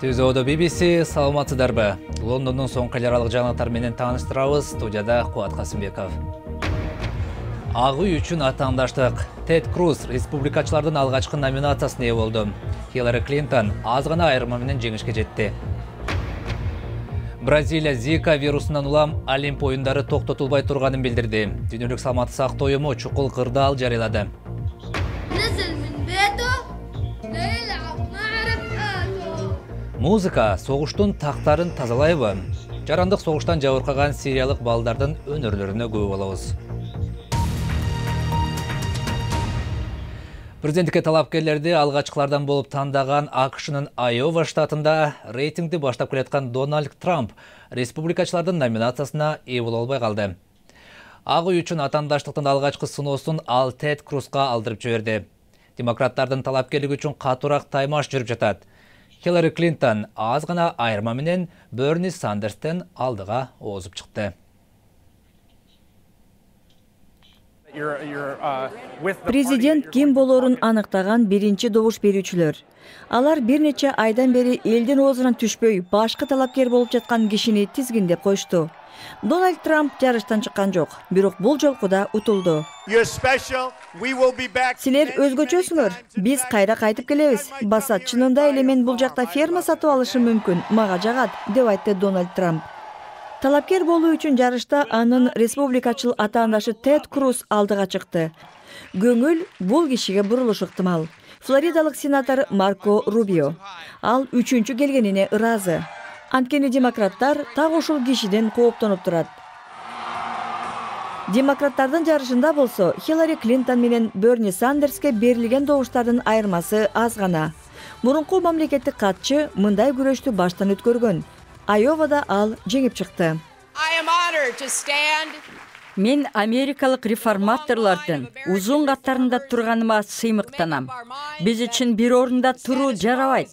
Түзөөдө BBC саламатсыздарбы? Лондондун соңку ай аралык жаңылыктар менен тааныштырабыз. Студияда Кубат Касымбеков. Ак үй үчүн атаандаштык. Тед Круз республикачылардын алгачкы номинациясына ээ болду. Хиллари Клинтон аз гана айырма менен жеңишке жетти. Бразилия Зика вирусунан улам Олимп оюндары токтотулбай турганын билдирди. Дүйнөлүк саламаттык сактоо уюму чукул кырдаал жарыялады. Музыка согуштун тактарын тазалайбы? Жарандык согуштан жабыркаган сириялык балдардын өнөрлөрүнө күбө болобуз. Президенттикке талапкерлерди алгачкылардан болуп тандаган АКШнын Айова штатында рейтингди баштап келаткан Дональд Трамп республикачылардын номинациясына ээ боло албай калды. Ак үй үчүн атаандаштыктын алгачкы сыноосун ал Тед Крузга алдырып жиберди. Демократтардын талапкерлиги үчүн катуураак таймаш жүрүп жатат. Хиллари Клинтон аз гана айырма менен Берни Сандерстен алдыга озуп чыкты. Президент ким болорун аныктаган биринчи добуш берүүчүлөр. Алар бир нече айдан бери элдин оозунан түшпөй, башкы талапкер болуп жаткан кишини тизгиндеп коюшту. Дональд Трамп жарыштан чыккан жок, бирок бул жолку да утулду. Силер өзгөчөсүңөр, биз кайра кайтып келебиз. Басат, чынында эле мен бул жакта ферма сатып алышым мүмкүн, мага жагат, деп айтты Дональд Трамп. Талапкер болуу үчүн жарышта анын республикачыл атаандашы Тед Круз алдыга чыкты. Көңүл бул кишиге бурулушу ыктымал. Флоридалык сенатор Марко Рубио. Ал үчүнчү келгенине ыраазы. Анткени демократтар так ушул кишиден кооптонуп турат. Демократтардын жарышында болсо Хиллари Клинтон менен Берни Сандерске берилген добуштардын айырмасы аз гана. Мурунку мамлекеттик катчы мындай күрөштү баштан өткөргөн. Айовада ал жеңип чыкты. Мен америкалык реформаторлордун узун каттарында турганыма сыймыктанам. Биз үчүн бир орунда туруу жарабайт.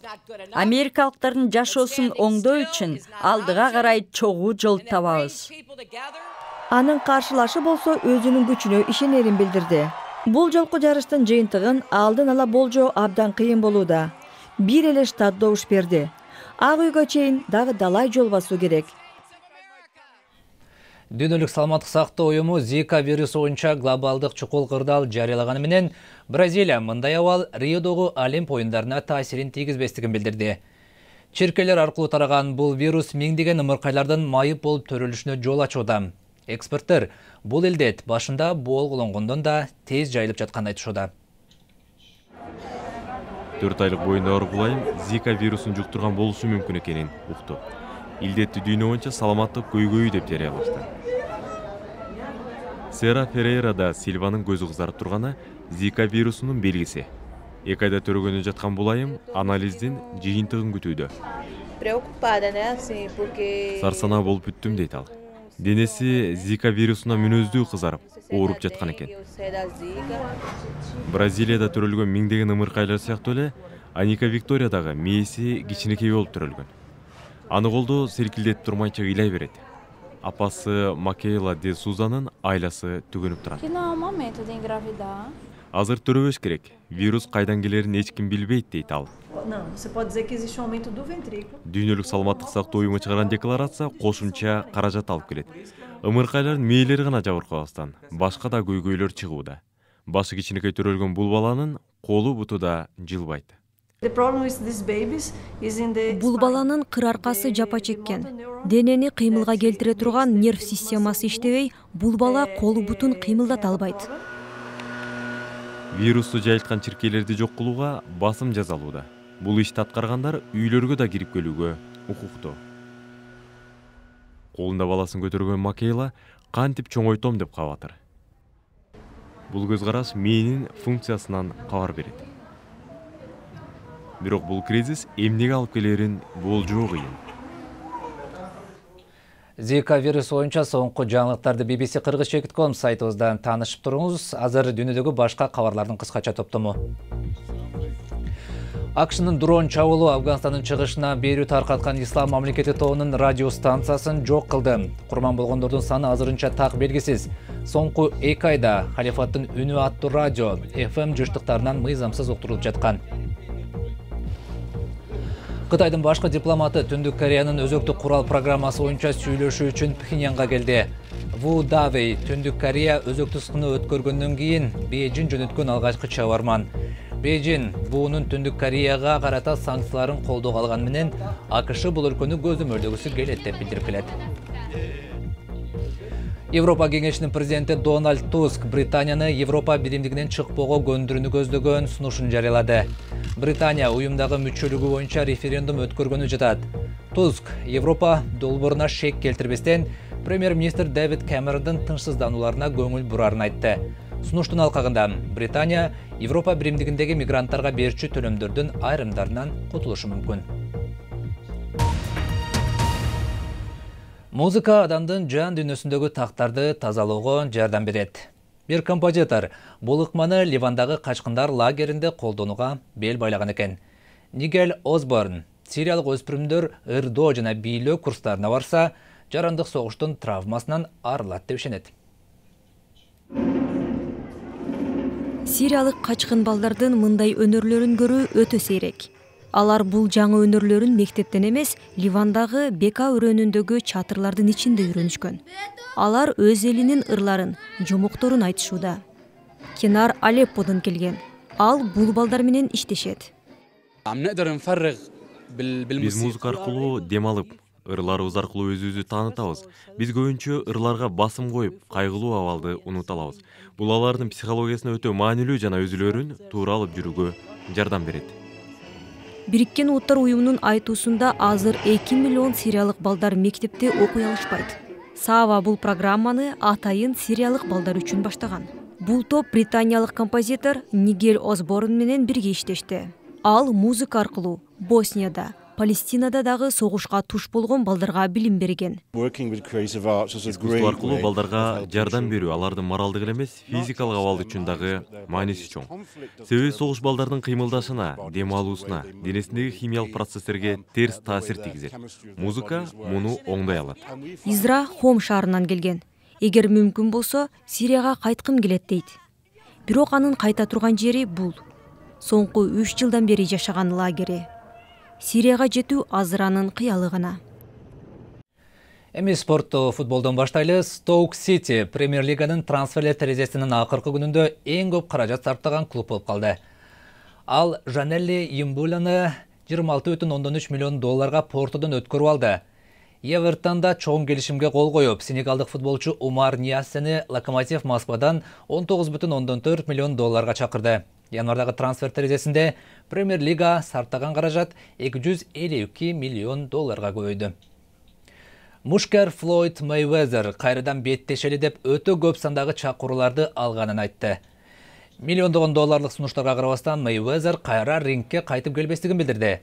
Америкалыктардын жашоосун оңдоо үчүн алдыга карай чогуу жол табабыз. Анын каршылашы болсо өзүнүн күчүнө ишенерин билдирди. Бул жолку жарыштын жыйынтыгын алдын ала болжоо абдан кыйын болууда. Бир эле штат добуш берди. Ак үйгө чейин дагы далай жол басуу керек. Дүйнөлүк саламаттык сактоо уюму Зика вирусу боюнча глобалдык чукул кырдаал жарыялаганы менен Бразилия мындай абал Риодогу Олимп оюндарына таасирин тийгизбестигин билдирди. Чиркейлер аркылуу тараган бул вирус миңдеген ымыркайлардын майып болуп төрөлүшүнө жол ачууда. Эксперттер бул илдет башында болгонгондон да тез жайылып жатканын айтышууда. 4 айлык боюнда ооруп айым Зика вирусун жуктурган болушу мүмкүн экенин укту. Илдетти дүйнө боюнча саламаттык көйгөйү деп жарыялашты. Сера Ферейра да Сильванын көзү кызарып турганы Зика вирусунун белгиси. 2 айда төрөгөнү жаткан бул айым анализдин жыйынтыгын күтүүдө. Сарсанаа болуп бүттүм дейт ал. Денеси Зика вирусуна мүнөздүү кызарып, ооруп жаткан экен. Бразилияда төрөлгөн миңдеген ымыркайлар сыяктуу эле Аника Виктория дагы мээси кичинекей болуп төрөлгөн. Аны колдо серкилдетип турмайча ыйлай берет. Апасы Макейла де Сузанын айласы түгөнүп турат. Азыр төрөбөш керек. Вирус кайдан келерин эч ким билбейт дейт ал. Дүйнөлүк саламаттык сактоо уюму чыгарган декларация кошумча каражат алып келет. Ымыркайлардын мээлери гана жабыркабастан башка да көйгөйлөр чыгууда. Башы кичинекей төрөлгөн бул баланын колу буту да жылбайт. Бул баланын кыр аркасы жапа чеккен. Денени кыймылга келтире турган нерв системасы иштебей, бул бала колу бутун кыймылдата албайт. Вирусту жайылткан чиркейлерди жок кылууга басым жасалууда. Бул ишти аткаргандар үйлөргө да кирип келүүгө укуктуу. Колунда баласын көтөргөн Макейла кантип чоңойтом деп кабатыр. Бул көз караш мээнин функциясынан кабар берет. Бирок бул кризис эмнеге алып келерин болжоо кыйын. Зика вирусу боюнча соңку жаңылыктарды BBC Kyrgyz.com сайтыбыздан таанышып туруңуз. Азыр дүйнөдөгү башка кабарлардын кыскача топтому. АКШнын дрон чабуулу Афганстандын чыгышына берүү таркаткан Ислам мамлекети тобунун радио станциясын жок кылды. Курман болгондордун саны азырынча так белгисиз. Соңку 2 айда халифаттын үнү аттуу радио FM жыштыктарынан мыйзамсыз уктурулуп жаткан. Кытайдын башкы дипломаты Түндүк Кореянын өзөктүк курал программасы боюнча сүйлөшүү үчүн Пхеньянга келди. Ву Давей Түндүк Корея өзөктүк сыны өткөргөндөн кийин Бейжин жөнөткөн алгачкы чабарман. Бейжин буунун Түндүк Кореяга карата санкцияларын колдоого алганы менен АКШ бул өлкөнү көзөмөлдөгүсү келет деп билдирип келет. Европа кеңешинин президенти Дональд Туск Британияны Европа биримдигинен чыкпоого көндүрүүнү көздөгөн сунушун жарыялады. Британия уюмдагы мүчөлүгү боюнча референдум өткөргөнү жатат. Туск Европа долбооруна шек келтирбестен премьер-министр Дэвид Кэмерондун тынчсызданууларына көңүл бурарын айтты. Сунуштун алкагында Британия Европа биримдигиндеги мигранттарга берчү төлөмдөрдүн айрымдарынан кутулушу мүмкүн. Музыка адамдын жан дүйнөсүндөгү тактарды тазалоого жардам берет. Бир композитор бул ыкманы Ливандагы качкындар лагеринде колдонууга бел байлаган экен. Нигел Осборн сириялык өспүрүмдөр ырдоо жана бийлөө курстарына барса, жарандык согуштун травмасынан арылат деп ишенет. Сириялык качкын балдардын мындай өнөрлөрүн көрүү өтө сейрек. Алар бул жаңы өнөрлөрүн мектептен эмес, Ливандагы Бека өрөөнүндөгү чатырлардын ичинде үйрөнүшкөн. Алар өз элинин ырларын, жомокторун айтышууда. Кенар Алепподон келген. Ал бул балдар менен иштешет. Биз музыка аркылуу дем алып, ырларыбыз аркылуу өзүбүздү таанытабыз. Биз көбүнчө ырларга басым коюп, кайгылуу абалды унута алабыз. Бул алардын психологиясына өтө маанилүү жана өзүлөрүн туура алып жүрүүгө жардам берет. Бириккен Уттар уюмунун айтуусунда азыр 2 миллион сириялык балдар мектепте окуй алышпайт. Сава бул программаны атайын сириялык балдар үчүн баштаган. Бул топ британиялык композитор Нигел Осборн менен бирге иштешти. Ал музыка аркылуу Боснияда, Палестинада дагы согушка туш болгон балдарга билим берген. Искусство аркылуу балдарга жардам берүү алардын моралдык эле эмес, физикалык абалы үчүн дагы мааниси чоң. Себеби согуш балдардын кыймылдашына, дем алуусуна, денесиндеги химиялык процесстерге терс таасир тийгизет. Музыка муну оңдой алат. Изра Хом шаарынан келген. Эгер мүмкүн болсо, Сирияга кайткым келет дейт. Бирок анын кайта турган жери бул. Соңку 3 жылдан бери жашаган лагери. Сирияга жетүү азыр анын кыялы гана. Эми спортту футболдон баштайлы. Стоук Сити Премьер-лиганын трансферлер терезесинин акыркы күнүндө эң көп каражат сарптаган клуб болуп калды. Ал Жанелли Имбуланы 26,3 миллион долларга Портодон өткөрүп алды. Эвертонда чоң келишимге кол коюп, сенегалдык футболчу Умар Ниассени Локомотив Москвадан 19,4 миллион долларга чакырды. Январдагы трансфер терезесинде Премьер-лига сарптаган каражат 252 миллион долларга көбөйдү. Мушкер Флойд Мейвезер кайрадан беттешели деп өтө көп сандагы чакырууларды алганын айтты. Миллиондогон долларлык сунуштарга карабастан Мейвезер кайра рингке кайтып келбестигин билдирди.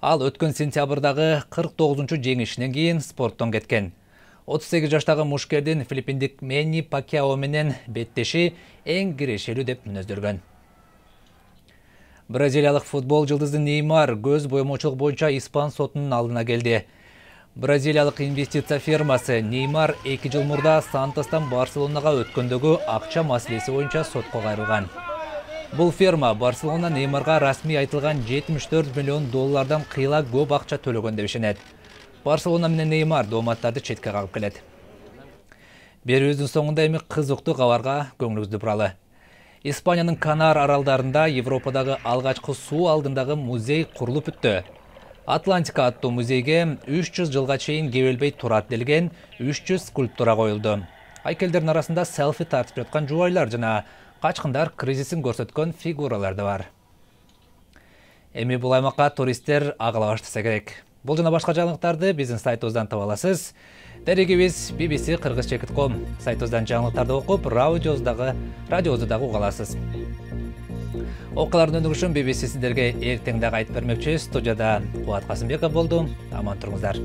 Ал өткөн сентябрдагы 49-чу жеңишинен кийин спорттон кеткен. 38 жаштагы мушкердин филиппиндик Мэнни Пакьяо менен беттеши эң кирешелүү деп мүнөздөлгөн. Бразилиялык футбол жылдызы Неймар көз боемочулук боюнча испан сотунун алдына келди. Бразилиялык инвестиция фирмасы Неймар 2 жыл мурда Сантостан Барселонага өткөндөгү акча маселеси боюнча сотко кайрылган. Бул фирма Барселона Неймарга расмий айтылган 74 миллион доллардан кыйла көп акча төлөгөн деп ишенет. Барселона менен Неймар дооматтарды четке кагып келет. Берүүбүздүн соңунда эми кызыктуу кабарга көңүлүңүздү буралы. Испаниянын Канар аралдарында Европадагы алгачкы суу алдындагы музей курулуп бүттү. Атлантика аттуу музейге 300 жылга чейин кебелбей турат делген 300 скульптура коюлду. Айкелдердин арасында селфи тартып жаткан жубайлар жана качкындар кризисин көрсөткөн фигуралар да бар. Эми бул аймакка туристтер агыла баштаса керек. Бул жана башка жаңылыктарды биздин сайтыбыздан таба аласыз. Дерегибиз bbc-kыргызча.com. Сайтыбыздан жаңылыктарды окуп, радиобузду дагы уга аласыз. Окуялардын өнүгүшүн BBC сиздерге эртең дагы айтып бермекчи. Студияда Кубат Касымбеков болду. Аман туруңуздар.